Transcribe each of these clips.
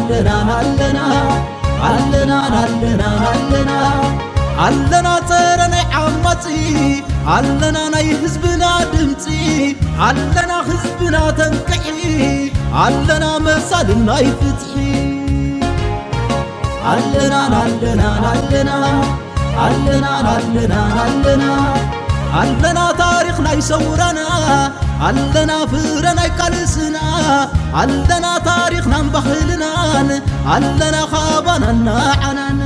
ኣለና ኣለና ኣለና ኣለና ኣለና ኣለና ጸረ ናይ ዓማጺ ኣለና ናይ ህዝብና ድምጺ ኣለና ህዝብና ተንቅሒ ኣለና መሳልን ናይ ፍትሒ ኣለና ኣለና ኣለና ኣለና ኣለና ኣለና ኣለና ታሪኽ ናይ ሰውራና ኣለና ፍረ ናይ ቃልስና ኣለና ታሪኽናን ባህልናን ኣለና ካባናን ንዓናን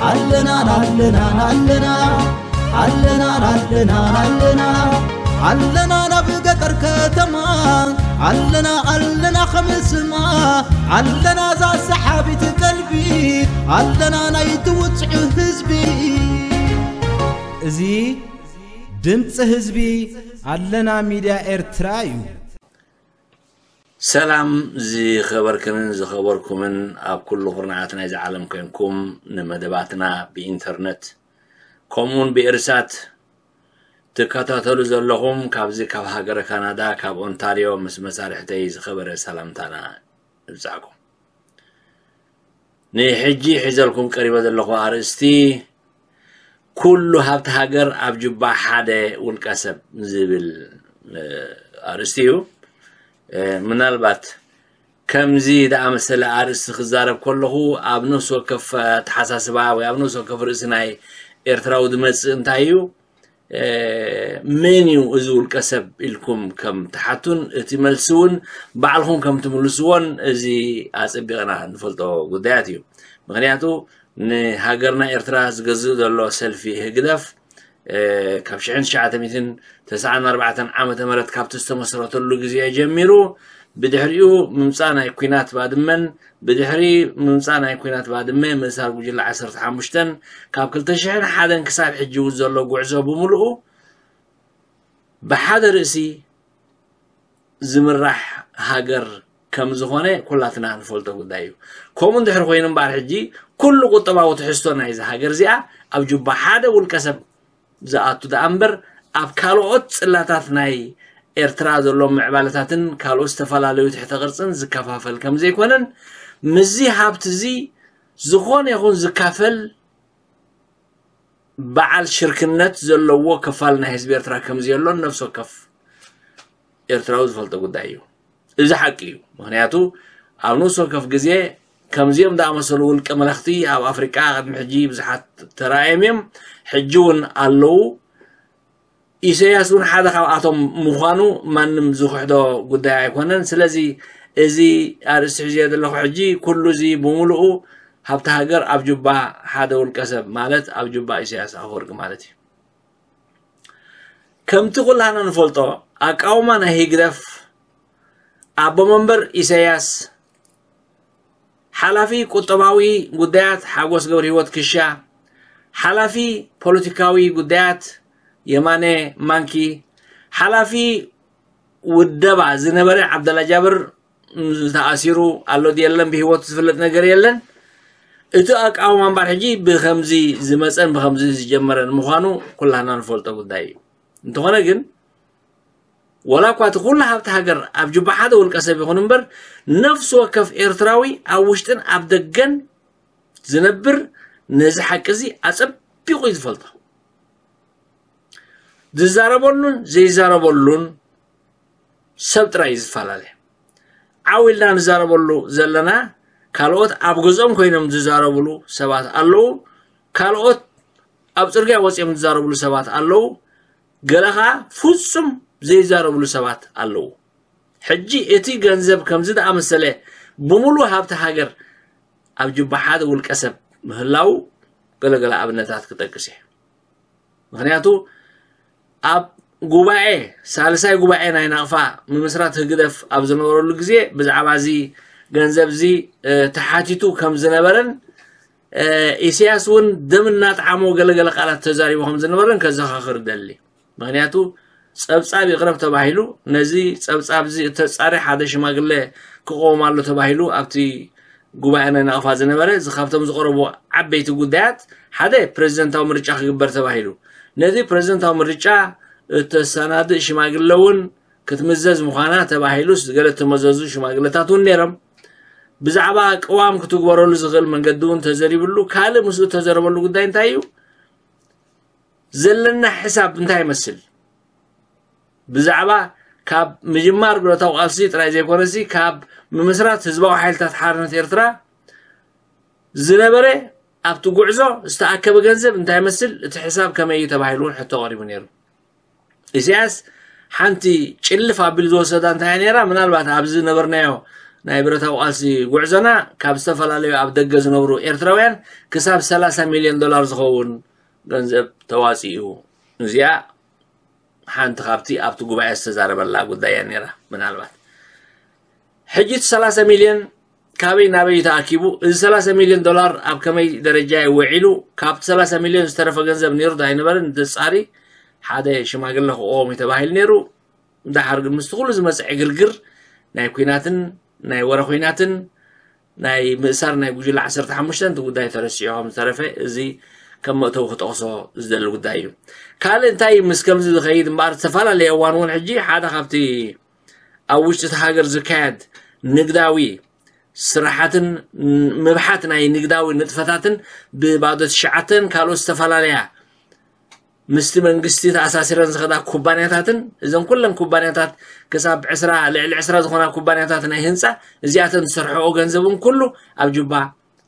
ኣለና ኣለና ኣለና ኣለና ኣለና ኣለና ኣለና ናብ ገጠር ከተማ ኣለና ኣለና ከምስማ ኣለና ዛ ሰሓቢት ቀልቢ ኣለና ናይ ትውፅዑ ህዝቢ እዚ ድምፂ ህዝቢ ኣለና ሚድያ ኤርትራ እዩ። ሰላም ዝኸበርክንን ዝኸበርኩምን ኣብ ኩሉ ኩርናዓት ናይዚ ዓለም ኮንኩም ንመደባትና ብኢንተርነት ከምኡውን ብኤርሳት ትከታተሉ ዘለኹም ካብዚ ካብ ሃገረ ካናዳ ካብ ኦንታርዮ ምስ መሳርሕተይ ዝኸበረ ሰላምታና ንብጻዕኩም። ንሕጂ ሒዘልኩም ቀሪበ ዘለኹ ኣርእስቲ ኩሉ ሃብቲ ሃገር ኣብ ጁባ ሓደ ውልቀ ሰብ ዝብል ኣርእስቲ እዩ። ምናልባት ከምዚ ዝኣመሰለ ኣርእስቲ ክዛረብ ከለኹ ኣብ ነፍሲ ወከፍ ኣተሓሳስባ ወይ ኣብ ነፍሲ ወከፍ ርእሲ ናይ ኤርትራዊ ዝመጽእ እንታይ እዩ? መን እዩ እዚ ውልቀ ሰብ ኢልኩም ከም ትሓቱን እቲ መልሲ እውን ባዕልኹም ከም ትምልስዎን እዚ ኣጸቢቕና ንፈልጦ ጉዳያት እዩ። ምኽንያቱ ንሃገርና ኤርትራ ዝገዝእ ዘሎ ሰልፊ ህግደፍ ካብ ሽሕን ትሽዓተ ሚእትን ተስዓን ኣርባዕተን ዓመተ ምህረት ካብቲ ዝተመስረተሉ ግዜ ጀሚሩ ብድሕሪኡ ምምፃእ ናይ ኲናት ባድመን ብድሕሪ ምምፃእ ናይ ኲናት ባድመ ምእሳር ጉጅለ ዓሰርተ ሓሙሽተን ካብ ክልተ ሽሕን ሓደን ክሳብ ሕጂ እውን ዘሎ ጉዕዞ ብምልኡ ብሓደ ርእሲ ዝምራሕ ሃገር ከም ዝኾነ ኩላትና ንፈልጦ ጉዳይ እዩ። ከምኡ እንድሕር ኮይኑ እምበኣር ሕጂ ኩሉ ቁጠባዊ ትሕዝቶ ናይዚ ሃገር እዚኣ ኣብ ጁባ ሓደ ውልቀ ሰብ ዝኣቱ ደኣ እምበር ኣብ ካልኦት ጽላታት ናይ ኤርትራ ዘሎ ምዕባለታትን ካልኦት ዝተፈላለዩ ትሕተ ቅርጽን ዝከፋፈል ከም ዘይኮነን ምስዚ ሃብቲ እዚ ዝኾነ ይኹን ዝካፈል በዓል ሽርክነት ዘለዎ ክፋል ናይ ህዝቢ ኤርትራ ከም ዘየሎን ነፍሲ ወከፍ ኤርትራዊ ዝፈልጦ ጉዳይ እዩ። እዚ ሓቂ እዩ። ምኽንያቱ ኣብ ንኡስ ወከፍ ግዜ ከምዚኦም ዝኣመሰሉ ውልቀ መለኽቲ ኣብ ኣፍሪቃ ቅድሚ ሕጂ ብዙሓት ተራእዮም እዮም፣ ሕጂ እውን ኣለዉ። ኢሰያስ እውን ሓደ ካብኣቶም ምዃኑ ማንም ዝኽሕዶ ጉዳይ ኣይኮነን። ስለዚ እዚ ኣርእስቲ ሒዘዮ ዘለኹ ሕጂ ኩሉ እዚ ብምሉኡ ሃብቲ ሃገር ኣብ ጁባ ሓደ ውልቀ ሰብ ማለት ኣብ ጁባ ኢሰያስ ኣፈወርቂ ማለት እዩ። ከምቲ ኩላህና ንፈልጦ ኣቃውማ ናይ ህግደፍ ኣቦ መንበር ኢሰያስ ሓላፊ ቁጠባዊ ጉዳያት ሓጎስ ገብረሂወት ክሻ፣ ሓላፊ ፖለቲካዊ ጉዳያት የማነ ማንኪ፣ ሓላፊ ውደባ ዝነበረ ዓብደላ ጃብር ተኣሲሩ ኣሎ ድየለን ብህይወቱ ዝፍለጥ ነገር የለን። እቲ ኣቃውማ እምበር ሕጂ ብከምዚ ዝመፀን ብከምዚ ዝጀመረን ምዃኑ ኩላህና ንፈልጦ ጉዳይ እዩ። እንተኾነ ግን ወላ እኳ እቲ ኩሉ ሃብቲ ሃገር ኣብ ጁባ ሓደ ውልቀ ሰብ ይኹን እምበር ነፍሲ ወከፍ ኤርትራዊ ኣብ ውሽጥን ኣብ ደገን ዝነብር ነዚ ሓቂ እዚ ኣጸቢቑ እዩ ዝፈልጦ። ዝዛረበሉን ዘይዛረበሉን ሰብ ጥራይ እዩ ዝፈላለ። ዓው ኢልና ንዛረበሉ ዘለና ካልኦት ኣብ ገዝኦም ኮይኖም ዝዛረብሉ ሰባት ኣለዉ። ካልኦት ኣብ ጽርግያ ወጺኦም ዝዛረብሉ ሰባት ኣለዉ። ገለ ኸኣ ፍጹም ዘይዛረብሉ ሰባት ኣለዉ። ሕጂ እቲ ገንዘብ ከምዚ ዝኣመሰለ ብምሉእ ሃብቲ ሃገር ኣብ ጅባ ሓደ ውልቀ ሰብ ምህላዉ ገለገለ ኣብነታት ክጠቅስ እየ። ምኽንያቱ ኣብ ጉባኤ ሳልሳይ ጉባኤ ናይ ናቕፋ ምምስራት ህግደፍ ኣብ ዝነበረሉ ግዜ ብዛዕባ እዚ ገንዘብ እዚ ተሓቲቱ ከም ዝነበረን ኢሳያስ እውን ደም እናጠዓሞ ገለገለ ቃላት ተዛሪቡ ከም ዝነበረን ከዘኻኽር ደሊ። ምኽንያቱ ጸብጻብ ይቕረብ ተባሂሉ ነዚ ጸብጻብ እዚ እተጻሪ ሓደ ሽማግለ ክቐውም ኣሎ ተባሂሉ ኣብቲ ጉባኤ ናይ ናቕፋ ዝነበረ እዚ ካብቶም ዝቐረቡ ዓበይቲ ጉዳያት ሓደ ፕሬዚደንታዊ ምርጫ ክግበር ተባሂሉ ነዚ ፕሬዚደንታዊ ምርጫ እተሰናድእ ሽማግለ እውን ክትምዘዝ ምዃና ተባሂሉ ገለ እተመዘዙ ሽማግለታት እውን ነይሮም። ብዛዕባ ቅዋም ክትግበረሉ ዝኽእል መንገዲ እውን ተዘሪብሉ። ካልእ ምስኡ ተዘረበሉ ጉዳይ እንታይ እዩ? ዘለና ሕሳብ እንታይ ይመስል? ብዛዕባ ካብ ምጅማር ብረታዊ ቃልሲ ጥራይ ዘይኮነሲ ካብ ምምስራት ህዝባዊ ሓይልታት ሓርነት ኤርትራ ዝነበረ ኣብቲ ጉዕዞ ዝተኣከበ ገንዘብ እንታይ ይመስል? እቲ ሕሳብ ከመይ እዩ ተባሂሉ እውን ሕቶ ቀሪቡ ነይሩ። ኢሳያስ ሓንቲ ጭልፍ ኣቢሉ ዝወሰዳ እንታይ እያ ነይራ? ምናልባት ኣብዚ ነበርናዮ ናይ ብረታዊ ቃልሲ ጉዕዞና ካብ ዝተፈላለዩ ኣብ ደገ ዝነብሩ ኤርትራውያን ክሳብ ሰላሳ ሚልዮን ዶላር ዝኸውን ገንዘብ ተዋፂኡ። እዚኣ ሓንቲ ካብቲ ኣብቲ ጉባኤ ዝተዛረበላ ጉዳይ እያ ነይራ። ምናልባት ሕጂ እቲ ሰላሳ ሚልዮን ካበይ ናበይ እዩ ተኣኪቡ? እዚ ሰላሳ ሚልዮን ዶላር ኣብ ከመይ ደረጃ እዩ ውዒሉ? ካብቲ ሰላሳ ሚልዮን ዝተረፈ ገንዘብ ነይሩ ዶ ኣይነበረን? ዘጻሪ ሓደ ሽማግለ ክቆም እዩ ተባሂሉ ነይሩ። ደሓር ግን ምስቲ ኩሉ ዝመጽእ ዕግርግር ናይ ኲናትን ናይ ወረ ኲናትን ናይ ምእሳር ናይ ጉጅለ ዓሰርተ ሓሙሽተ እቲ ጉዳይ ተረሲዑ ከም ዝተረፈ እዚ ከም መእተዊ ክጠቕሶ ዝደሊ ጉዳይ እዩ። ካልእ እንታይ ምስ ከምዚ ዝኸይድ እምበኣር ዝተፈላለየ እዋን እውን ሕጂ ሓደ ካብቲ ኣብ ውሽጢ እቲ ሃገር ዝካየድ ንግዳዊ ስራሓትን ምብሓት ናይ ንግዳዊ ንጥፈታትን ብባዶ ትሽዓተን ካልኦት ዝተፈላለያ ምስቲ መንግስቲ ተኣሳሲረን ዝኸዳ ኩባንያታትን እዘን ኩለን ኩባንያታት ክሳብ ዕስራ ልዕሊ ዕስራ ዝኾና ኩባንያታት ናይ ህንፃ እዚኣተን ዝሰርሐኦ ገንዘብን ኩሉ ኣብ ጁባ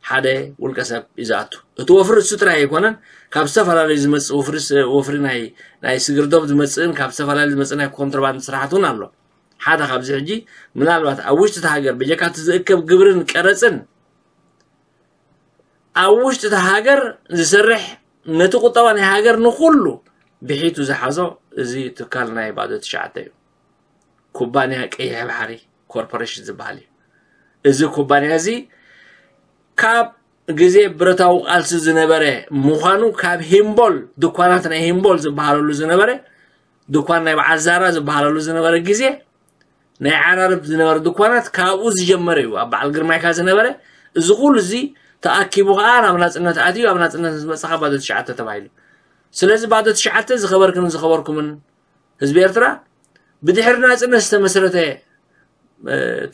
ሓደ ውልቀ ሰብ እዩ ዝኣቱ። እቲ ወፍሪ እሱ ጥራይ ኣይኮነን፣ ካብ ዝተፈላለዩ ዝመፅእ ወፍሪ ስ- ወፍሪ ናይ ናይ ስግርዶብ ዝመፅእን ካብ ዝተፈላለዩ ዝመፅእ ናይ ኮንትሮባንድ ስራሕት እውን ኣሎ። ሓደ ካብዚ ሕጂ ምናልባት ኣብ ውሽጢ እቲ ሃገር በጀካ እቲ ዝእከብ ግብርን ቀረፅን ኣብ ውሽጢ እቲ ሃገር ዝሰርሕ ነቲ ቁጠባ ናይ ሃገር ንኩሉ ብሒቱ ዝሓዞ እዚ ትካል ናይ ባዶ ትሽዓተ እዩ። ኩባንያ ቀይሕ ባሕሪ ኮርፖሬሽን ዝበሃል እዩ። እዚ ኩባንያ እዚ ካብ ግዜ ብረታዊ ቃልሲ ዝነበረ ምዃኑ ካብ ሂምቦል ድኳናት ናይ ሂምቦል ዝበሃለሉ ዝነበረ ድኳን ናይ በዓል ዛራ ዝበሃለሉ ዝነበረ ግዜ ናይ ዓራርብ ዝነበረ ድኳናት ካብኡ ዝጀመረ እዩ። ኣብ በዓል ግርማይካ ዝነበረ እዚ ኩሉ እዚ ተኣኪቡ ከዓ ናብ ናፅነት ኣትዩ ኣብ ናፅነት ምስ መፀ ባዶ ትሽዓተ ተባሂሉ። ስለዚ ባዶ ትሽዓተ ዝኸበርክን ዝኸበርኩምን ህዝቢ ኤርትራ ብድሕሪ ናፅነት ዝተመስረተ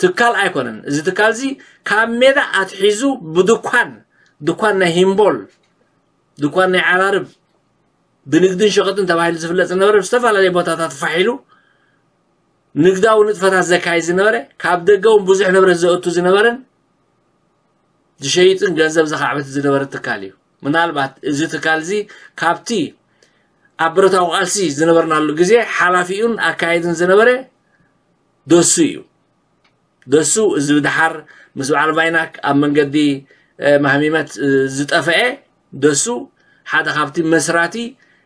ትካል ኣይኮነን። እዚ ትካል እዚ ካብ ሜዳ ኣትሒዙ ብድኳን ድኳን ናይ ሂምቦል ድኳን ናይ ዓራርብ ብንግድን ሸቐጥን ተባሂሉ ዝፍለጥ ዝነበረ ብዝተፈላለየ ቦታታት ፋሒሉ ንግዳዊ ንጥፈታት ዘካይድ ዝነበረ ካብ ደገ እውን ብዙሕ ንብረት ዘእቱ ዝነበረን ዝሸይጥን ገንዘብ ዘኻዕበት ዝነበረ ትካል እዩ። ምናልባት እዚ ትካል እዚ ካብቲ ኣብ ብረታዊ ቃልሲ ዝነበርናሉ ግዜ ሓላፊኡን ኣካየድን ዝነበረ ደሱ እዩ። ደሱ እዚ ብድሓር ምስ በዓል ቫይናክ ኣብ መንገዲ ማህሚመት ዝጠፈአ ደሱ ሓደ ካብቲ መስራቲ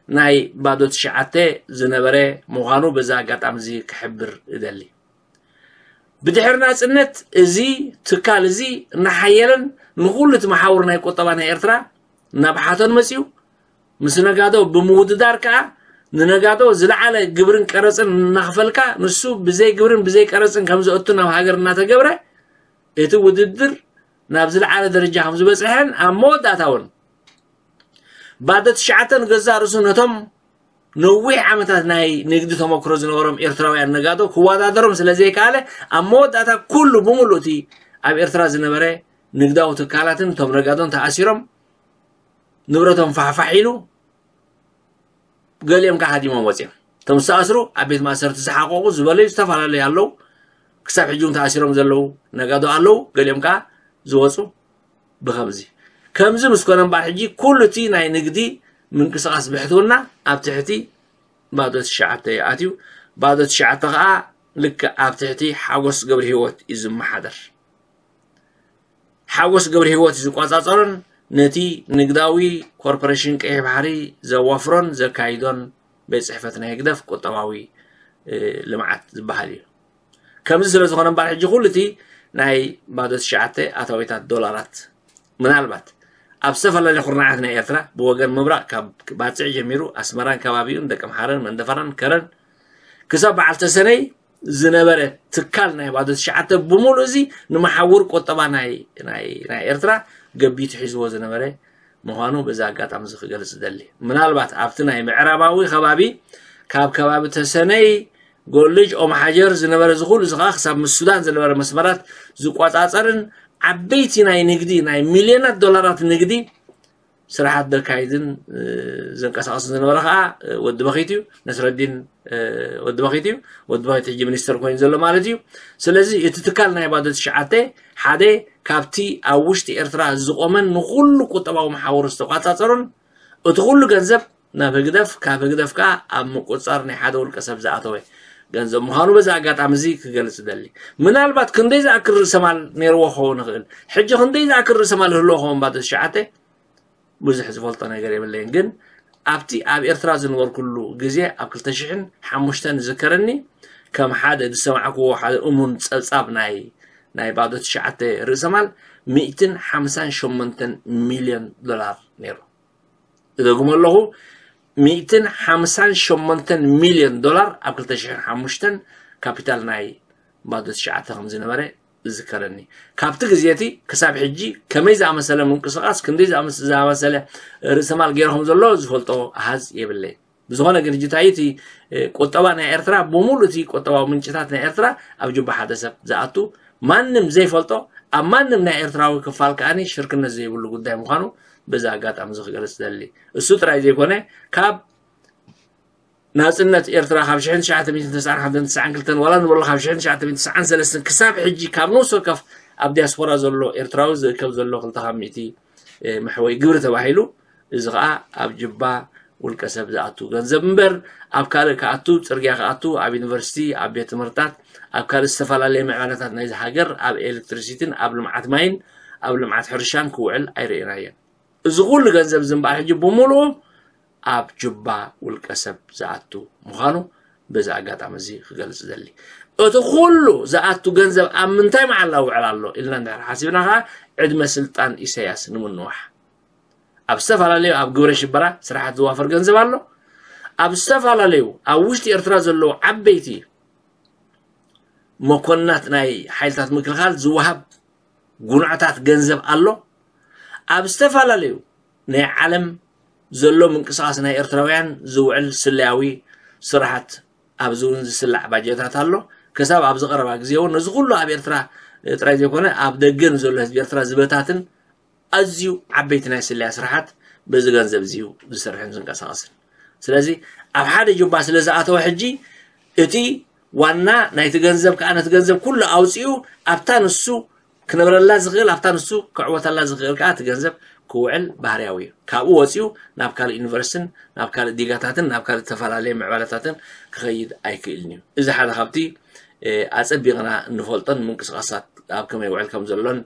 ናይ ባዶ ትሽዓተ ዝነበረ ምዃኑ በዚ ኣጋጣሚ እዚ ክሕብር እደሊ። ብድሕሪ ናፅነት እዚ ትካል እዚ እናሓየለን ንኩሉ እቲ መሓውር ናይ ቁጠባ ናይ ኤርትራ እናብሓቶን መፅዩ ምስ ነጋዶ ብምውድዳር ከዓ ንነጋዶ ዝለዓለ ግብርን ቀረፅን እናኽፈልካ ንሱ ብዘይ ግብርን ብዘይ ቀረፅን ከም ዘእቱ ናብ ሃገር እናተገብረ እቲ ውድድር ናብ ዝለዓለ ደረጃ ከም ዝበፅሐን ኣብ መወዳእታ እውን ባዶ ትሽዓተ ንገዛእ ርእሱ ነቶም ነዊሕ ዓመታት ናይ ንግዲ ተመክሮ ዝነበሮም ኤርትራውያን ነጋዶ ክወዳደሮም ስለ ዘይከኣለ ኣብ መወዳእታ ኩሉ ብምሉእ እቲ ኣብ ኤርትራ ዝነበረ ንግዳዊ ትካላትን እቶም ነጋዶን ተኣሲሮም ንብረቶም ፋሕፋሕ ኢሉ ገሊኦም ከዓ ሃዲሞም ወፂኦም። እቶም ዝተኣስሩ ኣብ ቤት ማእሰርቲ ዝሓቆቁ ዝበለዩ ዝተፈላለዩ ኣለዉ። ክሳብ ሕጂ እውን ተኣሲሮም ዘለዉ ነጋዶ ኣለዉ። ገሊኦም ከዓ ዝወፁ ብኸምዚ ከምዚ ምስ ኮነ እምበኣር ሕጂ ኩሉ እቲ ናይ ንግዲ ምንቅስቃስ ብሕትውና ኣብ ትሕቲ ባዶ ትሽዓተ እዩ ኣትዩ። ባዶ ትሽዓተ ከዓ ልክዕ ኣብ ትሕቲ ሓጎስ ገብረ ህይወት እዩ ዝመሓደር። ሓጎስ ገብረ ህይወት እዩ ዝቆፃፀሮን ነቲ ንግዳዊ ኮርፖሬሽን ቀይሕ ባሕሪ ዘዋፍሮን ዘካይዶን ቤት ፅሕፈት ናይ ህግደፍ ቁጠባዊ ልምዓት ዝበሃል እዩ። ከምዚ ስለ ዝኾነ እምበኣር ሕጂ ኩሉ እቲ ናይ ባዶ ትሽዓተ ኣታዊታት ዶላራት ምናልባት ኣብ ዝተፈላለዩ ኩርናዓት ናይ ኤርትራ ብወገን ምብራቕ ካብ ባፅዕ ጀሚሩ ኣስመራን ከባቢኡን ደቀምሓረን መንደፈራን ከረን ክሳብ በዓል ተሰነይ ዝነበረ ትካል ናይ ባዶ ትሽዓተ ብምሉእ እዚ ንመሓውር ቁጠባ ናይ ናይ ናይ ኤርትራ ገቢቱ ሒዝዎ ዝነበረ ምዃኑ በዚ ኣጋጣሚ እዚ ክገልጽ እደሊ። ምናልባት ኣብቲ ናይ ምዕራባዊ ከባቢ ካብ ከባቢ ተሰነይ ጎልጅ ኦም ሓጀር ዝነበረ እዚ ኩሉ እዚ ከዓ ክሳብ ምስ ሱዳን ዝነበረ መስመራት ዝቆጻጸርን ዓበይቲ ናይ ንግዲ ናይ ሚልዮናት ዶላራት ንግዲ ስራሓት ዘካይድን ዘንቀሳቐስን ዝነበረ ከዓ ወዲ በኺት እዩ። ነስረዲን ወዲ በኺት እዩ። ወዲ በኺት ሕጂ ሚኒስተር ኮይኑ ዘሎ ማለት እዩ። ስለዚ እቲ ትካል ናይ ባዶ ትሽዓተ ሓደ ካብቲ ኣብ ውሽጢ ኤርትራ ዝቆመን ንኩሉ ቁጠባዊ መሓውር ዝተቋጻጸሩን እቲ ኩሉ ገንዘብ ናብ ህግደፍ ካብ ህግደፍ ከዓ ኣብ ምቁፅፃር ናይ ሓደ ውልቀ ሰብ ዝኣተወ ገንዘብ ምዃኑ በዚ ኣጋጣሚ እዚ ክገልፅ ደሊ። ምናልባት ክንደይ ዝኣክል ርእሰማል ነይርዎ ክኸውን ይኽእል። ሕጂ ክንደይ ዝኣክል ርእሰማል ህልዎ ክኸውን ባዶ ትሽዓተ ብዙሕ ዝፈልጦ ነገር የብለይን። ግን ኣብቲ ኣብ ኤርትራ ዝነበርኩሉ ግዜ ኣብ ክልተ ሽሕን ሓሙሽተን ዝከረኒ ከም ሓደ ዝሰማዕክዎ ሓደ እሙን ፀብፃብ ናይ ናይ ባዶ ትሽዓተ ርእሰማል ሚእትን ሓምሳን ሸሞንተን ሚልዮን ዶላር ነይሩ። እደግሞ ኣለኹ፣ ሚእትን ሓምሳን ሸሞንተን ሚልዮን ዶላር ኣብ ክልተ ሽሕን ሓሙሽተን ካፒታል ናይ ባዶ ትሽዓተ ከም ዝነበረ ዝዝከረኒ። ካብቲ ግዜ እቲ ክሳብ ሕጂ ከመይ ዝኣመሰለ ምንቅስቓስ ክንደይ ዝኣመሰለ ርእሰማል ገይሩ ከም ዘሎ ዝፈልጦ ኣሃዝ የብለይ። ብዝኾነ ግን ሕጂ እንታይ እቲ ቁጠባ ናይ ኤርትራ ብሙሉ እቲ ቁጠባዊ ምንጭታት ናይ ኤርትራ ኣብ ጁባ ሓደ ሰብ ዝኣቱ ማንም ዘይፈልጦ ኣብ ማንም ናይ ኤርትራዊ ክፋል ከዓኒ ሽርክነት ዘይብሉ ጉዳይ ምዃኑ በዚ ኣጋጣሚ እዚ ክገልጽ ደሊ። እሱ ጥራይ ዘይኮነ ካብ ናጽነት ኤርትራ ካብ ሽሕን ትሽዓተ ሚእትን ተስዓን ሓደን ተስዓን ክልተን ዋላ ንበሎ ካብ ሽሕን ትሽዓተ ሚእትን ተስዓን ሰለስተን ክሳብ ሕጂ ካብ ነፍሲ ወከፍ ኣብ ዲያስፖራ ዘሎ ኤርትራዊ ዝእከብ ዘሎ ክልተ ካብ ሚእቲ መሕወይ ግብሪ ተባሂሉ እዚ ከዓ ኣብ ጅባ ውልቀ ሰብ ዝኣቱ ገንዘብ እምበር ኣብ ካልእ ክኣቱ፣ ጽርግያ ክኣቱ፣ ኣብ ዩኒቨርሲቲ፣ ኣብ ቤት ትምህርታት፣ ኣብ ካልእ ዝተፈላለየ ምዕባለታት ናይዚ ሃገር ኣብ ኤሌክትሪሲቲን ኣብ ልምዓት ማይን ኣብ ልምዓት ሕርሻን ክውዕል ኣይርእናዮን። እዚ ኩሉ ገንዘብ ዝንበዓል ሕጂ ብምሉኡ ኣብ ጁባ ውልቀ ሰብ ዝኣቱ ምዃኑ በዚ ኣጋጣሚ እዚ ክገልጽ ዘሊ። እቲ ኩሉ ዝኣቱ ገንዘብ ኣብ ምንታይ መዓላ ውዕል ኣሎ ኢልና እንድሕር ሓሲብና ከዓ ዕድመ ስልጣን ኢሳያስ ንምንዋሕ ኣብ ዝተፈላለዩ ኣብ ግብረ ሽበራ ስራሓት ዝዋፈር ገንዘብ ኣሎ። ኣብ ዝተፈላለዩ ኣብ ውሽጢ ኤርትራ ዘለዉ ዓበይቲ መኮንናት ናይ ሓይልታት ምክልኻል ዝወሃብ ጉንዕታት ገንዘብ ኣሎ። ኣብ ዝተፈላለዩ ናይ ዓለም ዘሎ ምንቅስቃስ ናይ ኤርትራውያን ዝውዕል ስለያዊ ስራሓት ኣብዚ እውን ዝስላዕ ባጀታት ኣሎ። ክሳብ ኣብዚ ቀረባ ግዜ እውን ነዚ ኩሉ ኣብ ኤርትራ ጥራይ ዘይኮነ ኣብ ደገ ንዘሎ ህዝቢ ኤርትራ ዝበታትን ኣዝዩ ዓበይቲ ናይ ስለያ ስራሓት በዚ ገንዘብ እዚ እዩ ዝሰርሕን ዝንቀሳቐስን። ስለዚ ኣብ ሓደ ጁባ ስለ ዝኣተወ ሕጂ እቲ ዋና ናይቲ ገንዘብ ከዓ ነቲ ገንዘብ ኩሉ ኣውፂኡ ኣብታ ንሱ ክነብረላ ዝኽእል ኣብታ ንሱ ክዕወተላ ዝኽእል ከዓ እቲ ገንዘብ ክውዕል ባህርያዊ እዩ። ካብኡ ወፂኡ ናብ ካልእ ዩኒቨርሲቲን ናብ ካልእ ዲጋታትን ናብ ካልእ ዝተፈላለየ ምዕባለታትን ክኸይድ ኣይክእልን እዩ። እዚ ሓደ ካብቲ ኣፀቢቕና እንፈልጦን ምንቅስቃሳት ኣብ ከመይ ውዕል ከም ዘሎን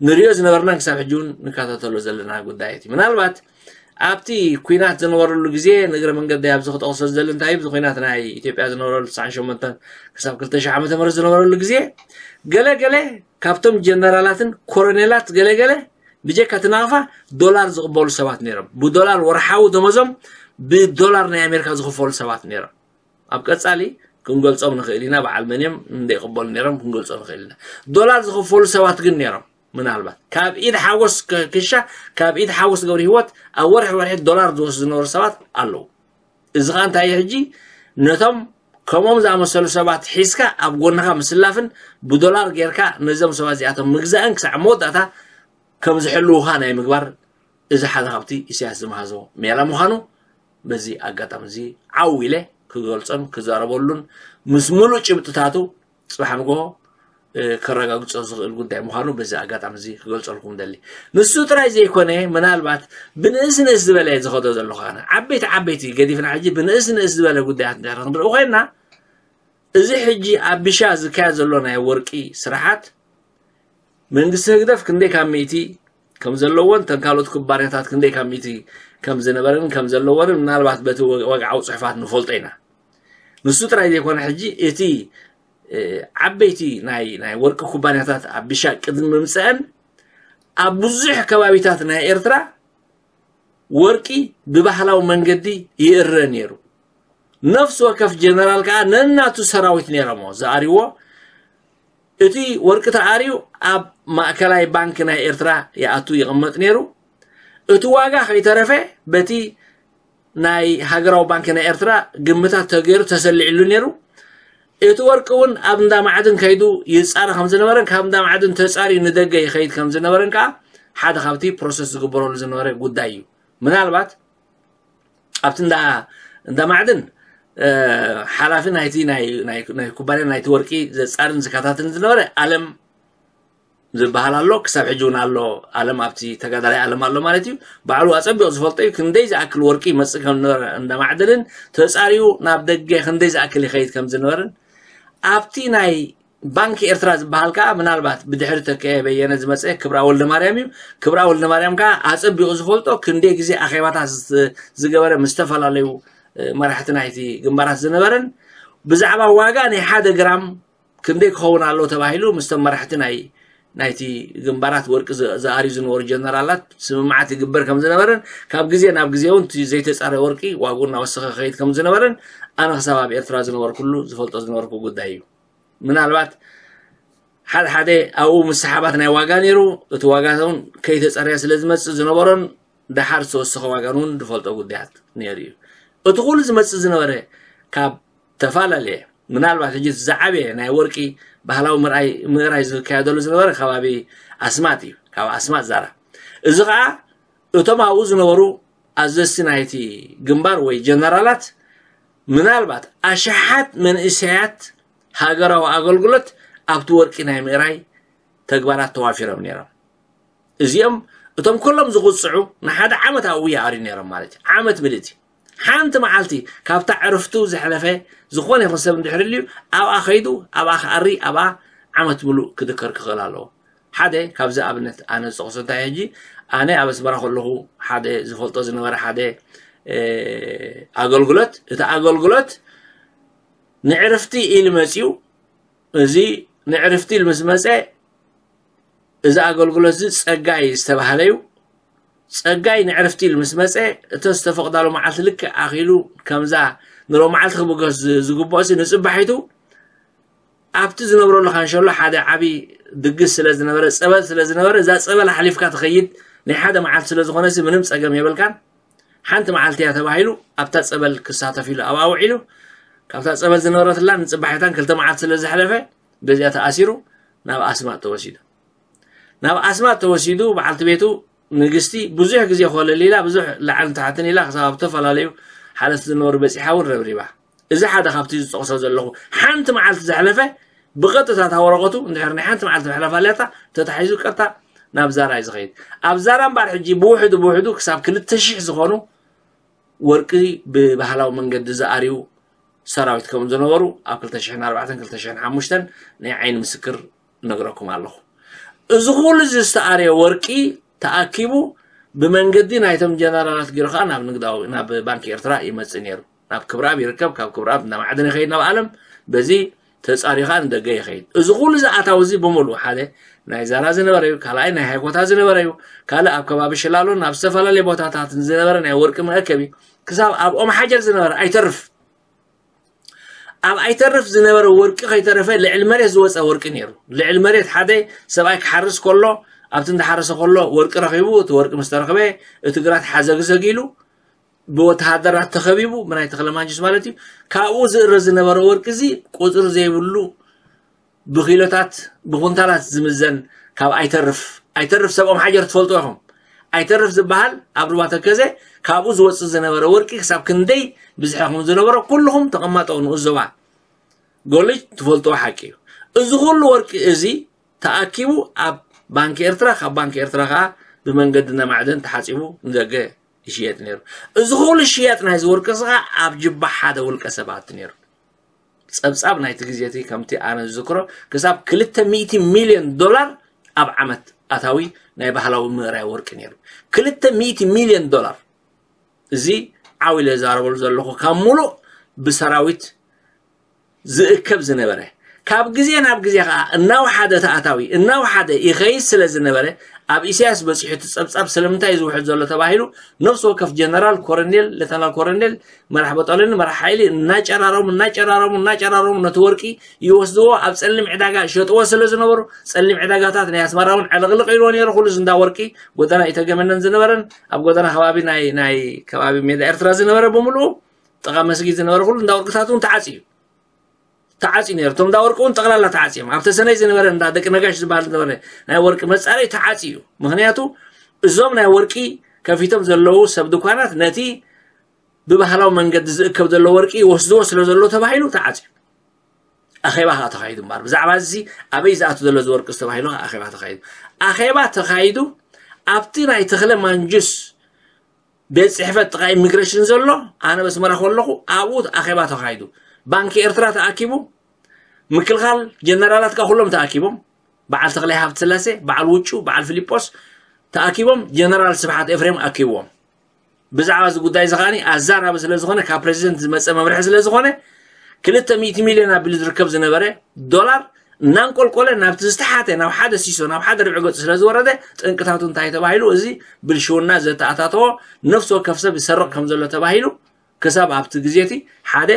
ንሪኦ ዝነበርናን ክሳብ ሕጂ እውን ንከታተሎ ዘለና ጉዳያት እዩ። ምናልባት ኣብቲ ኩናት ዝነበረሉ ግዜ ንእግረ መንገዲ ኣብዚ ክጠቕሶ ዝደሊ እንታይ እዩ፣ እዚ ኩናት ናይ ኢትዮጵያ ዝነበረሉ ትስዓን ሸሞንተን ክሳብ ክልተ ሽሕ ዓመተ ምህረት ዝነበረሉ ግዜ ገለ ገለ ካብቶም ጀነራላትን ኮሎኔላት ገለ ገለ ብጀካ እቲ ናቕፋ ዶላር ዝቕበሉ ሰባት ነይሮም። ብዶላር ወርሓዊ ደሞዞም ብዶላር ናይ ኣሜሪካ ዝኽፈሉ ሰባት ነይሮም። ኣብ ቀጻሊ ክንገልጾም ንኽእል ኢና። በዓል መን እዮም እንደ ይቕበሉ ነይሮም ክንገልጾ ንኽእል ኢና። ዶላር ዝኽፈሉ ሰባት ግን ነይሮም። ምናልባት ካብ ኢድ ሓጎስ ክሻ ካብ ኢድ ሓጎስ ገብሪ ህይወት ኣብ ወርሒ ወርሒ ዶላር ዝወስዱ ዝነበሩ ሰባት ኣለዉ። እዚ ኸዓ እንታይ እዩ ሕጂ ነቶም ከምኦም ዝኣመሰሉ ሰባት ሒዝካ ኣብ ጎንኻ ምስላፍን ብዶላር ጌርካ ነዞም ሰባት እዚኣቶም ምግዛእን ክሳዕ መወዳእታ ከም ዝሕልዉኻ ናይ ምግባር እዚ ሓደ ካብቲ ኢሳያስ ዝመሃዞ ሜላ ምዃኑ በዚ ኣጋጣሚ እዚ ዓው ኢለ ክገልጾን ክዛረበሉን ምስ ሙሉእ ጭብጥታቱ ጽባሕ ንግሆ ከረጋግጾ ዝኽእል ጉዳይ ምዃኑ በዚ ኣጋጣሚ እዚ ክገልጸልኩም ደሊ። ንሱ ጥራይ ዘይኮነ ምናልባት ብንእስ ንእስ ዝበለ ዝኸዶ ዘሎ ኸነ ዓበይቲ ዓበይቲ ገዲፍና ሕጂ ብንእስ ንእስ ዝበለ ጉዳያት እንድሕር ክንርኢ ኮይንና እዚ ሕጂ ኣብ ቢሻ ዝካየድ ዘሎ ናይ ወርቂ ስራሓት መንግስቲ ህግደፍ ክንደይ ካብ ሚእቲ ከም ዘለዎን ተን ካልኦት ኩባንያታት ክንደይ ካብ ሚእቲ ከም ዝነበረን ከም ዘለዎንን ምናልባት በቲ ወግዓዊ ፅሑፋት ንፈልጦ ኢና። ንሱ ጥራይ ዘይኮነ ሕጂ እቲ ዓበይቲ ናይ ናይ ወርቂ ኩባንያታት ኣብ ቢሻ ቅድሚ ምምፀአን ኣብ ብዙሕ ከባቢታት ናይ ኤርትራ ወርቂ ብባህላዊ መንገዲ ይእረ ነይሩ። ነፍሲ ወከፍ ጀነራል ከዓ ነናቱ ሰራዊት ነይሮሞ ዝኣርዎ። እቲ ወርቂ ተኣርዩ ኣብ ማእከላይ ባንክ ናይ ኤርትራ ይኣቱ ይቕመጥ ነይሩ። እቲ ዋጋ ከይተረፈ በቲ ናይ ሃገራዊ ባንክ ናይ ኤርትራ ግምታት ተገይሩ ተሰሊዕሉ ነይሩ። እቲ ወርቂ እውን ኣብ እንዳ ማዕድን ከይዱ ይፃረ ከም ዝነበረን ካብ እንዳ ማዕድን ተፃርዩ ንደገ ይኸይድ ከም ዝነበረን ከዓ ሓደ ካብቲ ፕሮሰስ ዝግበረሉ ዝነበረ ጉዳይ እዩ። ምናልባት ኣብቲ እንዳ እንዳ ማዕድን ሓላፊ ናይቲ ናይ ኩባንያ ናይቲ ወርቂ ዘፃርን ዝከታተልን ዝነበረ ኣለም ዝበሃል ኣሎ። ክሳብ ሕጂ እውን ኣሎ። ኣለም ኣብቲ ተጋዳላይ ኣለም ኣሎ ማለት እዩ። ባዕሉ ኣፀቢቑ ዝፈልጦ እዩ። ክንደይ ዝኣክል ወርቂ ይመፅእ ከም ዝነበረ እንዳ ማዕድንን ተፃርዩ ናብ ደገ ክንደይ ዝኣክል ይኸይድ ከም ዝነበርን ኣብቲ ናይ ባንኪ ኤርትራ ዝበሃል ከዓ ምናልባት ብድሕሪ ተከየ በየነ ዝመፀ ክብራ ወልደ ማርያም እዩ። ክብራ ወልደ ማርያም ከዓ ኣፀቢቑ ዝፈልጦ ክንደይ ግዜ ኣኼባታት ዝገበረ ምስ ዝተፈላለዩ መራሕቲ ናይቲ ግንባራት ዝነበረን ብዛዕባ ዋጋ ናይ ሓደ ግራም ክንደይ ክኸውን ኣሎ ተባሂሉ ምስቶም መራሕቲ ናይ ናይቲ ግንባራት ወርቂ ዝኣርዩ ዝነበሩ ጀነራላት ስምምዓት ይግበር ከም ዝነበረን ካብ ግዜ ናብ ግዜ እውን ዘይተፃረ ወርቂ ዋግኡ እናወሰኸ ከይድ ከም ዝነበረን ኣነ ክሳብ ኣብ ኤርትራ ዝነበርኩሉ ዝፈልጦ ዝነበርኩ ጉዳይ እዩ። ምናልባት ሓደ ሓደ ኣብኡ ምስሓባት ናይ ዋጋ ነይሩ። እቲ ዋጋ እውን ከይተፀረየ ስለ ዝመፅእ ዝነበሮን ደሓር ዝተወሰኸ ዋጋን እውን ዝፈልጦ ጉዳያት ነይሩ እዩ። እቲ ኩሉ ዝመፅእ ዝነበረ ካብ ተፈላለየ ምናልባት ሕጂ ዝዓበየ ናይ ወርቂ ባህላዊ ምርኣይ ምእራይ ዝካየደሉ ዝነበረ ከባቢ ኣስማጥ እዩ። ካብ ኣስማጥ ዛራ እዚ ከዓ እቶም ኣብኡ ዝነበሩ ኣዘዝቲ ናይቲ ግንባር ወይ ጀነራላት ምናልባት ኣሽሓት መንእሰያት ሃገራዊ ኣገልግሎት ኣብቲ ወርቂ ናይ ምእራይ ተግባራት ተዋፊሮም ነይሮም። እዚኦም እቶም ኩሎም ዝቁፅዑ ንሓደ ዓመት ኣብኡ ይኣርዩ ነይሮም ማለት እዩ። ዓመት ምልእቲ ሓንቲ መዓልቲ ካብታ ዕርፍቱ ዘሕለፈ ዝኾነ ይኹን ሰብ እንድሕር ልዩ ኣብኣ ከይዱ ኣብኣ ክኣሪ ኣብኣ ዓመት ምሉእ ክድከር ክኽእል ኣለዎ። ሓደ ካብዚ ኣብነት ኣነ ዝጠቕሶ እንታይ ሕጂ ኣነ ኣብ ኣስመራ ከለኹ ሓደ ዝፈልጦ ዝነበረ ሓደ ኣገልግሎት እቲ ኣገልግሎት ንዕርፍቲ ኢሉ መፅዩ። እዚ ንዕርፍቲ ኢሉ ምስ መፀ እዚ ኣገልግሎት እዚ ፀጋይ ዝተባህለ እዩ። ፀጋይ ንዕርፍቲ ኢሉ ምስ መፀ እተ ዝተፈቕዳሉ መዓልቲ ልክዕ ኣኺሉ ከምዛ ንሮ መዓልቲ ክብገስ ዝግብኦ ንፅባሒቱ ኣብቲ ዝነብረሉ ካንሸሎ ሓደ ዓብዪ ድግስ ስለ ዝነበረ ፀበል ስለ ዝነበረ እዛ ፀበል ሓሊፍካ ትኸይድ ናይ ሓደ መዓልቲ ስለ ዝኾነሲ ምንም ፀገም የብልካን። ሓንቲ መዓልቲ እያ ተባሂሉ ኣብታ ፀበል ክሳተፍ ኢሉ ኣብኣ ውዒሉ ካብታ ፀበል ዝነበረትላ ንፅባሒታን ክልተ መዓልቲ ስለ ዝሓለፈ በዚኣ ተኣሲሩ ናብ ኣስማጥ ተወሲዱ። ናብ ኣስማጥ ተወሲዱ በዓልቲ ቤቱ ንግስቲ ብዙሕ ግዜ ኮለል ኢላ ብዙሕ ላዕልን ታሕትን ኢላ ክሳብ ኣብ ዝተፈላለዩ ሓለፍቲ ዝነበሩ በፂሓ እውን ረብሪባ። እዚ ሓደ ካብቲ ዝጠቕሶ ዘለኹ ሓንቲ መዓልቲ ዘሕለፈ ብቐጥታ እታ ወረቐቱ እንድሕር ናይ ሓንቲ መዓልቲ መሕለፍ ኣለታ ተታሒዙ ቀጥታ ናብ ዛራ እዩ ዝኸይድ። ኣብ ዛራ እምበኣር ሕጂ ብውሕዱ ብውሕዱ ክሳብ ክልተ ሽሕ ዝኾኑ ወርቂ ብባህላዊ መንገዲ ዝኣርዩ ሰራዊት ከም ዝነበሩ ኣብ ክልተ ሽሕን ኣርባዕተን ክልተ ሽሕን ሓሙሽተን ናይ ዓይኒ ምስክር ነግረኩም ኣለኹ። እዚ ኩሉ እዚ ዝተኣርየ ወርቂ ተኣኪቡ ብመንገዲ ናይቶም ጀነራላት ገይሩ ከዓ ናብ ንግዳዊ ናብ ባንኪ ኤርትራ ይመፅእ ነይሩ። ናብ ክብረኣብ ይርከብ፣ ካብ ክብረኣብ ናብ ማዕድን ይኸይድ ናብ ኣለም በዚ ተፃሪኻ ንደገ ይኸይድ። እዚ ኩሉ ዝኣታዊ እዚ ብምሉእ ሓደ ናይ ዛራ ዝነበረ እዩ፣ ካልኣይ ናይ ሃይኮታ ዝነበረ እዩ፣ ካልእ ኣብ ከባቢ ሽላሎን ኣብ ዝተፈላለየ ቦታታት ዝነበረ ናይ ወርቂ መእከቢ ክሳብ ኣብ ኦም ሓጀር ዝነበረ ኣይተርፍ ኣብ ኣይተርፍ ዝነበረ ወርቂ ከይተረፈ ልዕሊ መሬት ዝወፀ ወርቂ ነይሩ። ልዕሊ መሬት ሓደ ሰብኣይ ክሓርስ ከሎ ኣብቲ እንዳሓረሰ ከሎ ወርቂ ረኺቡ እቲ ወርቂ ምስ ተረኽበ እቲ ግራት ሓዘግዘግ ኢሉ ብወተሃደራት ተኸቢቡ ብናይ ተኽለማንጅስ ማለት እዩ። ካብኡ ዝእረ ዝነበረ ወርቂ እዚ ቁፅሪ ዘይብሉ ብኪሎታት ብኩንታላት ዝምዘን ካብ ኣይተርፍ ኣይተርፍ ሰብኦም ሓጀር ትፈልጡ ኢኹም። ኣይተርፍ ዝበሃል ኣብ ሩባ ተከዘ ካብኡ ዝወፅእ ዝነበረ ወርቂ ክሳብ ክንደይ ብዝሐኹም ዝነበረ ኩልኹም ተቐማጠው ንኡስ ዞባ ጎልጅ ትፈልጥዎ ሓቂ እዩ። እዚ ኩሉ ወርቂ እዚ ተኣኪቡ ኣብ ባንኪ ኤርትራ ካብ ባንኪ ኤርትራ ከዓ ብመንገዲ ነማዕደን ተሓፂቡ ንደገ ይሽየጥ ነይሩ። እዚ ኩሉ ሽያጥ ናይዚ ወርቂ እዚ ከዓ ኣብ ጅባ ሓደ ውልቀ ሰባት ነይሩ። ጸብጻብ ናይቲ ግዜ እቲ ከምቲ ኣነ ዝዝክሮ ክሳብ ክልተ ሚእቲ ሚልዮን ዶላር ኣብ ዓመት ኣታዊ ናይ ባህላዊ ምእራይ ወርቂ ነይሩ። ክልተ ሚእቲ ሚልዮን ዶላር። እዚ ዓው ኢለ ዝዛረበሉ ዘለኹ ካብ ሙሉእ ብሰራዊት ዝእከብ ዝነበረ ካብ ግዜ ናብ ግዜ ከዓ እናወሓደ ተኣታዊ እናወሓደ ይኸይድ ስለ ዝነበረ ኣብ ኢሳያስ በፂሑ እቲ ጸብጻብ ስለምንታይ እዩ ዝውሕድ ዘሎ ተባሂሉ ነፍሲ ወከፍ ጀነራል ኮረኔል ሌተናል ኮረኔል መራሕ በጦለኒ መራሕ ሓይሊ እናጨራረሙ እናጨራረሙ እናጨራረሙ ነቲ ወርቂ ይወስድዎ ኣብ ፀሊም ዕዳጋ ይሸጥዎ ስለ ዝነበሩ ፀሊም ዕዳጋታት ናይ ኣስመራ እውን ዕልቕልቕ ኢልዎ ነይሩ ኩሉ ዝንዳ ወርቂ ጎደና ኢተገመነን ዝነበረን ኣብ ጎደና ከባቢ ናይ ናይ ከባቢ ሜዳ ኤርትራ ዝነበረ ብምሉኡ ጥቓ መስጊድ ዝነበረ ኩሉ እንዳ ወርቅታት እውን ተዓፅዩ ተዓፅዩ ነይሩ። እቶም እንዳ ወርቂ እውን ጠቕላላ ተዓፅዮም። ኣብ ተሰነይ ዝነበረ እንዳ ደቂ ነጋሽ ዝበሃል ዝነበረ ናይ ወርቂ መፃረይ ተዓፅዩ እዩ። ምክንያቱ እዞም ናይ ወርቂ ከፊቶም ዘለዉ ሰብ ድኳናት ነቲ ብባህላዊ መንገዲ ዝእከብ ዘሎ ወርቂ ይወስድዎ ስለ ዘሎ ተባሂሉ ተዓፅዩ። ኣኼባ ከዓ ተኻይዱ እምበር ብዛዕባ እዚ ኣበይ ዝኣቱ ዘሎ እዚ ወርቂ ዝተባሂሉ ከዓ ኣኼባ ተኻይዱ። ኣኼባ ተኻይዱ ኣብቲ ናይ ተኽለ ማንጁስ ቤት ፅሕፈት ጥቓ ኢሚግሬሽን ዘሎ ኣነ በስመራ ከለኹ ኣብኡ ኣኼባ ተኻይዱ። ባንኪ ኤርትራ ተኣኪቡ፣ ምክልኻል ጀነራላት ከዓ ኩሎም ተኣኪቦም፣ በዓል ተኽላይ ሃብተ ስላሴ፣ በዓል ውጩ፣ በዓል ፊሊጶስ ተኣኪቦም ጀነራል ስብሓት ኤፍሬም ኣኪብዎም። ብዛዕባ እዚ ጉዳይ እዚ ከዓኒ ኣዛራቢ ስለ ዝኾነ ካብ ፕሬዚደንት ዝመፀ መምርሒ ስለ ዝኾነ ክልተ ሚእቲ ሚልዮን ኣቢሉ ዝርከብ ዝነበረ ዶላር እናንቆልቆለ ናብቲ ዝተሓተ ናብ ሓደ ሲሶ ናብ ሓደ ርብዒ ገፁ ስለ ዝወረደ ጠንቅታቱ እንታይ ተባሂሉ እዚ ብልሽውና ዘተኣታተዎ ነፍሲ ወከፍ ሰብ ይሰርቕ ከም ዘሎ ተባሂሉ ክሳብ ኣብቲ ግዜ እቲ ሓደ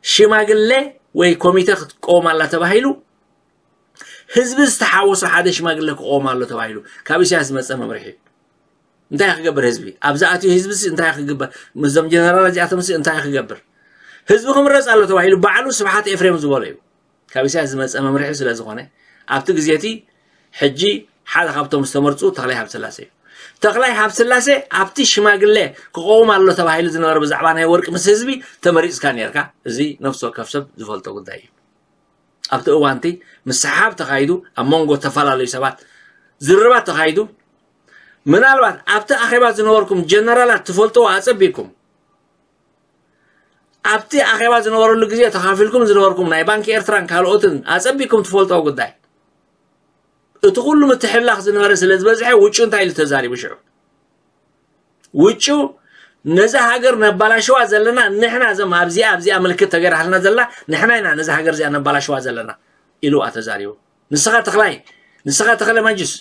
ሽማግለ ወይ ኮሚተ ክትቀወም ኣላ ተባሂሉ ህዝቢ ዝተሓወሶ ሓደ ሽማግለ ክቆም ኣሎ ተባሂሉ ካብ ኢሳያስ ዝመፀ መምርሒ እዩ። እንታይ ክገብር ህዝቢ ኣብዛ ኣትዩ ህዝቢ እንታይ ክግበር ምስዞም ጀነራል እዚኣቶም እንታይ ክገብር ህዝቢ ክምረፅ ኣሎ ተባሂሉ ባዕሉ ስብሓት ኤፍሬም ዝበሎ እዩ። ካብ ኢሳያስ ዝመፀ መምርሒ ስለ ዝኾነ ኣብቲ ግዜ እቲ ሕጂ ሓደ ካብቶም ዝተመርፁ ተኽላይ ሃብስላሴ እዩ። ተኽላይ ሃብስላሴ ኣብቲ ሽማግለ ክቐውም ኣሎ ተባሂሉ ዝነበረ ብዛዕባ ናይ ወርቂ ምስ ህዝቢ ተመሪፅካ ነርካ። እዚ ነፍሲ ወከፍ ሰብ ዝፈልጦ ጉዳይ እዩ። ኣብቲ እዋንቲ ምስሓብ ተኻይዱ ኣብ መንጎ ዝተፈላለዩ ሰባት ዝርርባት ተኻይዱ። ምናልባት ኣብቲ ኣኼባ ዝነበርኩም ጀነራላት ትፈልጥዎ ኣጸቢኩም ኣብቲ ኣኼባ ዝነበረሉ ግዜ ተኻፊልኩም ዝነበርኩም ናይ ባንኪ ኤርትራን ካልኦትን ኣጸቢኩም ትፈልጥዎ ጉዳይ እቲ ኩሉ ምትሕላኽ ዝነበረ ስለ ዝበዝሐ ውጩ እንታይ ኢሉ ተዛሪቡ ሽዑ ውጩ ነዛ ሃገር ነባላሽዋ ዘለና ንሕና እዞም ኣብዚኣ ኣብዚኣ ምልክት ተገይራልና ዘላ ንሕና ኢና ነዛ ሃገር እዚኣ ነባላሽዋ ዘለና ኢሉ ተዛሪቡ። ንስኻ ተኽላይ ንስኻ ተኽለ ማንጅስ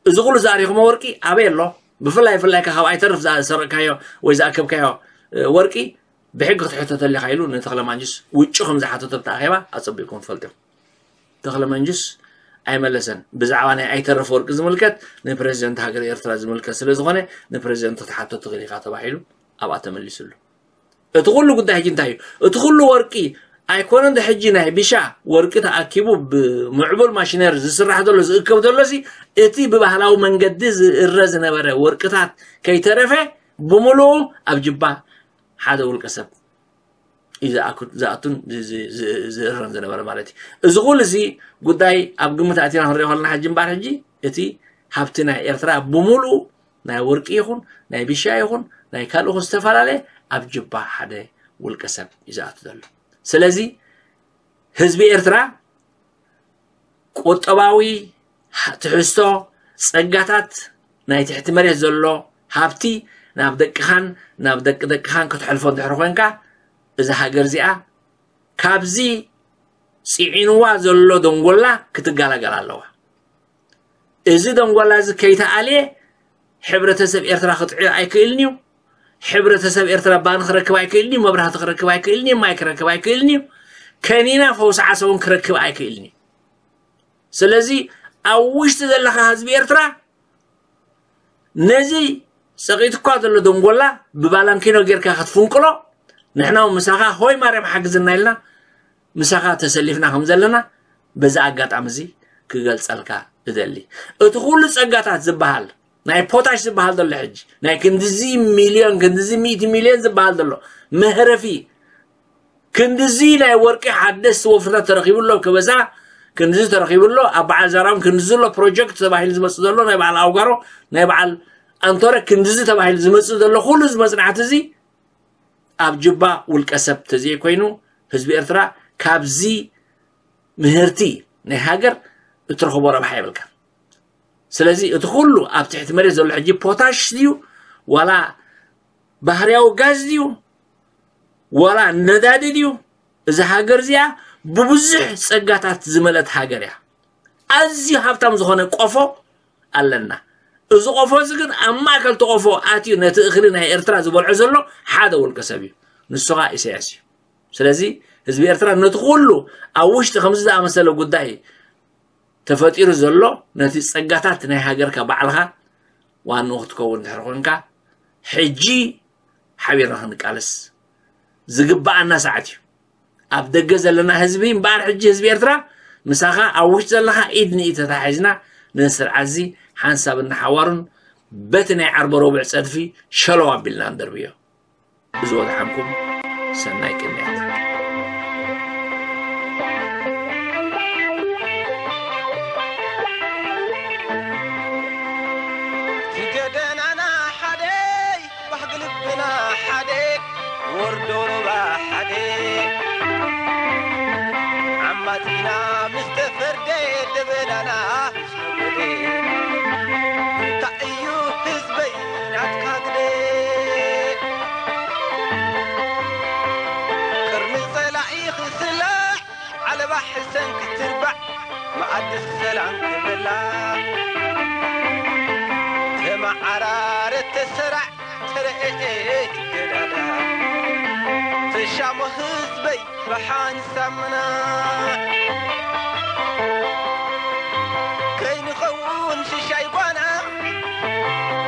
እዚ ኩሉ ዝኣሪኹሞ ወርቂ ኣበይ ኣሎ? ብፍላይ ብፍላይ ካብ ኣይተርፍ ዝሰረቅካዮ ወይ ዝኣከብካዮ ወርቂ ብሕጊ ክትሕተተሉ ኢኻ ኢሉ ንተኽለ ማንጅስ ውጩ ከም ዝሓተቶ ኣብቲ ኣኼባ ኣጸቢቕኩም ትፈልጡ ኢኹም። ተኽለ ማንጅስ ኣይመለሰን። ብዛዕባ ናይ ኣይተርፍ ወርቂ ዝምልከት ንፕረዚደንት ሃገር ኤርትራ ዝምልከት ስለ ዝኾነ ንፕረዚደንት ክትሓቶ ትኽእል ኢኻ ተባሂሉ ኣብኣ ተመሊስሉ። እቲ ኩሉ ጉዳይ ሕጂ እንታይ እዩ? እቲ ኩሉ ወርቂ ኣይኮነን ዶ ሕጂ ናይ ቢሻ ወርቂ ተኣኪቡ ብምዕቡል ማሽነሪ ዝስራሕ ዘሎ ዝእከብ ዘሎ ሲ እቲ ብባህላዊ መንገዲ ዝእረ ዝነበረ ወርቅታት ከይተረፈ ብምሉኡ ኣብ ጅባ ሓደ ውልቀ ሰብ እዩ ዝኣኩ- ዝኣቱን ዝ- ዝ- ዝ- ዝእረን ዝነበረ ማለት እዩ። እዚ ኩሉ እዚ ጉዳይ ኣብ ግምት ኣቲና ክንሪኦ ከለና ሕጂ እምበኣር ሕጂ እቲ ሃብቲ ናይ ኤርትራ ብምሉኡ ናይ ወርቂ ይኹን ናይ ቢሻ ይኹን ናይ ካልእ ይኹን ዝተፈላለየ ኣብ ጅባ ሓደ ውልቀ ሰብ እዩ ዝኣቱ ዘሎ። ስለዚ ህዝቢ ኤርትራ ቁጠባዊ ትሕዝቶ ጸጋታት ናይ ትሕቲ መሬት ዘሎ ሃብቲ ናብ ደቅኻን ናብ ደቂ ደቅኻን ክትሕልፎ እንድሕር ኮንካ እዛ ሃገር እዚኣ ካብዚ ጽዒንዋ ዘሎ ደንጎላ ክትገላገል ኣለዋ። እዚ ደንጎላ እዚ ከይተኣልየ ሕብረተሰብ ኤርትራ ክጥዕዮ ኣይክእልን እዩ። ሕብረተሰብ ኤርትራ ባኒ ክረክብ ኣይክእልን እዩ። መብራህቲ ክረክብ ኣይክእልን እዩ። ማይ ክረክብ ኣይክእልን እዩ። ከኒና ፈውሲ ዓሰ እውን ክረክብ ኣይክእልን እዩ። ስለዚ ኣብ ውሽጢ ዘለኻ ህዝቢ ኤርትራ ነዚ ጸቒጥኳ ዘሎ ደንጎላ ብባላንኪኖ ጌርካ ክትፍንቅሎ ንሕና እውን ምሳኻ ሆይ ማርያም ሓግዝና ኢልና ምሳኻ ተሰሊፍና ከም ዘለና በዚ ኣጋጣሚ እዚ ክገልጸልካ እደሊ። እቲ ኩሉ ጸጋታት ዝበሃል ናይ ፖታሽ ዝበሃል ዘሎ ሕጂ ናይ ክንድዚ ሚልዮን ክንድዚ ሚእቲ ሚልዮን ዝበሃል ዘሎ መህረፊ ክንድዚ ናይ ወርቂ ሓደስቲ ወፍርታት ተረኺቡ ኣሎ ከበሳ ክንድዚ ተረኺቡ ኣሎ ኣብ በዓል ዛራም ክንድዚ ኣሎ ፕሮጀክት ተባሂሉ ዝመፅእ ዘሎ ናይ በዓል ኣውጋሮ ናይ በዓል ኣንቶረ ክንድዚ ተባሂሉ ዝመፅእ ዘሎ ኩሉ እዚ መፅናዕቲ እዚ ኣብ ጅባ ውልቀ ሰብ ተዘይኮይኑ ህዝቢ ኤርትራ ካብዚ ምህርቲ ናይ ሃገር እትረኽቦ ረብሓ የብልካ። ስለዚ እቲ ኩሉ ኣብ ትሕቲ መሬት ዘሎ ሕጂ ፖታሽ ድዩ ዋላ ባህርያዊ ጋዝ ድዩ ዋላ ነዳዲ ድዩ? እዛ ሃገር እዚኣ ብብዙሕ ጸጋታት ዝመልአት ሃገር እያ። ኣዝዩ ሃብታም ዝኾነ ቆፎ ኣለና። እዚ ቆፎ እዚ ግን ኣብ ማእከል እቲ ቆፎ ኣትዩ ነቲ እኽሊ ናይ ኤርትራ ዝበልዖ ዘሎ ሓደ ውልቀ ሰብ እዩ። ንሱ ኸኣ ኢሳያስ እዩ። ስለዚ ህዝቢ ኤርትራ ነቲ ኩሉ ኣብ ውሽጢ ከምዚ ዝኣመሰለ ጉዳይ ተፈጢሩ ዘሎ ነቲ ጸጋታት ናይ ሃገርካ ባዕልኻ ዋንኡ ክትከውን እንድሕር ኮንካ ሕጂ ሓቢርና ክንቃለስ ዝግብኣና ሰዓት እዩ። ኣብ ደገ ዘለና ህዝቢ እምበኣር፣ ሕጂ ህዝቢ ኤርትራ፣ ምሳኻ ኣብ ውሽጢ ዘለኻ ኢድ ንኢድ ተታሒዝና፣ ነዚ ስርዓት እዚ ሓንሳብን ንሓዋሩን በቲ ናይ ዓርበ ረቡዕ ጸድፊ ሸለው ኣቢልና ንደርብዮ። ብዝወድሓንኩም ሰናይ ቅንያት። እቲ ገደናና ሓደ፣ ባህጊ ልብና ሓደ፣ ወርዶ ሩባ ሓደ፣ ዓማጺና ምስ ተፈርደ፣ ደበናና ምስ ነጎደ፣ እንታይ እዩ ህዝበይ ናትካ ግደ? ቅርኒ ጸላኢ ክስላዕ፣ ዓለባ ሕሰን ክትርባዕ፣ መኣዲ ሰላም ክበላ፣ ተመዓራረ ተሰራዕ፣ ተረኤ ትገዳዳ፣ ተሻሞ ህዝበይ ብሓን ሳምና፣ ከይንኸውን ሽሻይ ጓና፣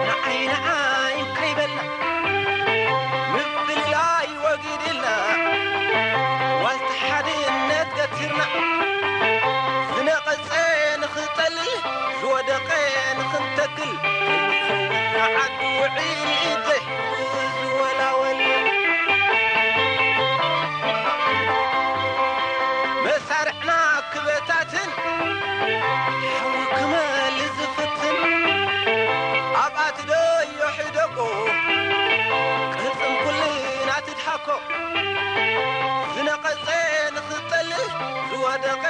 ንዓይ ንዓይ ከይበልና፣ ምፍልላይ ወጊድልና፣ ዋልታ ሓድነት ገቲርና፣ ዝነቐጸ ንኽጠልል፣ ዝወደቐ ንኽንተክል፣ ከይንኸውን ዓዲ ውዒል፣ ዘይሕጉዝ ዝወላወል። መሳርዕና ክበታትን፣ ሓዊ ክመል ዝፍትን፣ ኣብኣ ትደዮ ሕደጎ፣ ቅልጽም ኩልና ትድሃኮ። ዝነቐጸ ንኽንጠልል፣ ዝወደቐ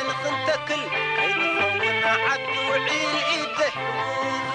ንኽንተክል፣ ከይንኸውን ዓዲ ውዒል፣ ኢድ ዘይሕጉዝ